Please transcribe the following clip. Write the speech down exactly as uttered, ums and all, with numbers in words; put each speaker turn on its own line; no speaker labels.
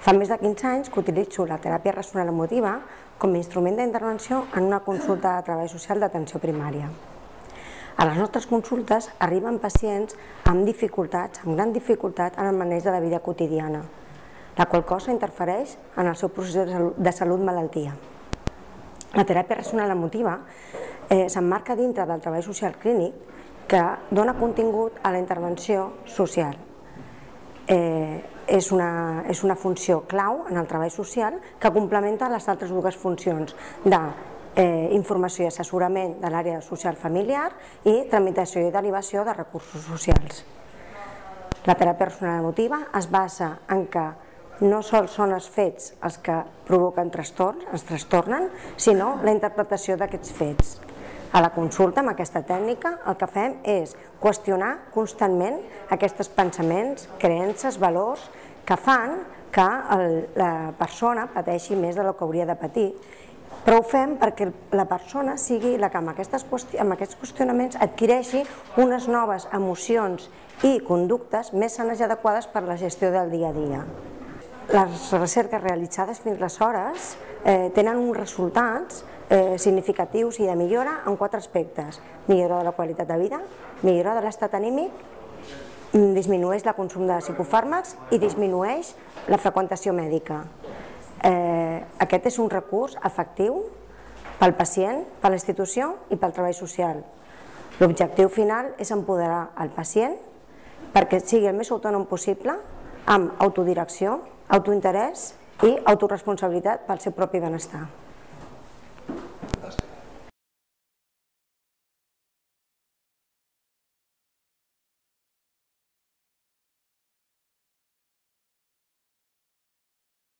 Fa més de quinze anys que utilitzo la teràpia racional emotiva com a instrument d'intervenció en una consulta de treball social d'atenció primària. A les nostres consultes arriben pacients amb dificultats, amb gran dificultat en el maneig de la vida quotidiana, la qual cosa interfereix en el seu procés de salut-malaltia. La teràpia racional emotiva eh, s'emmarca dintre del treball social clínic que dona contingut a la intervenció social. Eh, és, una, és una funció clau en el treball social que complementa les altres dues funcions de eh, informació i assessorament de l'àrea social familiar i tramitació i derivació de recursos socials. La teràpia racional emotiva es basa en que no sols són els fets els que provoquen trastorns, ens trastornen, sinó la interpretació d'aquests fets. A la consulta, amb aquesta tècnica, el que fem és qüestionar constantment aquests pensaments, creences, valors que fan que la persona pateixi més del que hauria de patir, però ho fem perquè la persona sigui la que amb aquests qüestionaments adquireixi unes noves emocions i conductes més sanes i adequades per a la gestió del dia a dia. Les recerques realitzades fins aleshores tenen uns resultats significatius i de millora en quatre aspectes: millora de la qualitat de vida, millora de l'estat anímic, disminueix el consum de psicofàrmacs i disminueix la freqüentació mèdica. Aquest és un recurs efectiu pel pacient, per la institució i pel treball social. L'objectiu final és empoderar el pacient perquè sigui el més autònom possible, amb autodirecció, autointerès i autoresponsabilitat pel seu propi benestar.